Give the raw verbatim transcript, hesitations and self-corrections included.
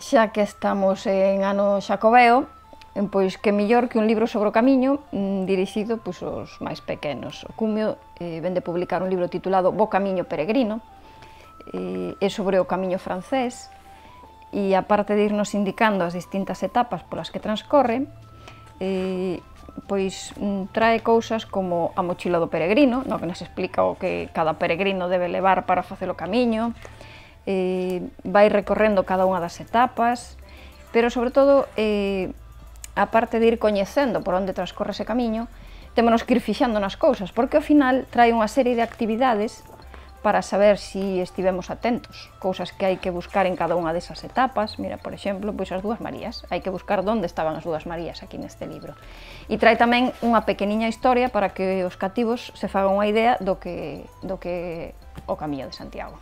xa que estamos en ano xacobeo, pois que mellor que un libro sobre o camiño dirixido pois, aos máis pequenos. O Cumio eh, vende publicar un libro titulado Bo Camiño Peregrino, eh, é sobre o camiño francés, e aparte de irnos indicando as distintas etapas polas que transcorre, eh, pois trae cousas como a mochila do peregrino, no que nos explica o que cada peregrino debe levar para facer o camiño, eh, vai recorrendo cada unha das etapas, pero sobre todo, eh, aparte de ir coñecendo por onde transcorre ese camiño, témonos que ir fixando nas cousas, porque ao final trae unha serie de actividades para saber si estivemos atentos, cousas que hai que buscar en cada unha desas etapas. Mira, por exemplo, pois as dúas Marías, hai que buscar onde estaban as dúas Marías aquí neste libro. E trae tamén unha pequeniña historia para que os cativos se fagan unha idea do que, do que o Camiño de Santiago.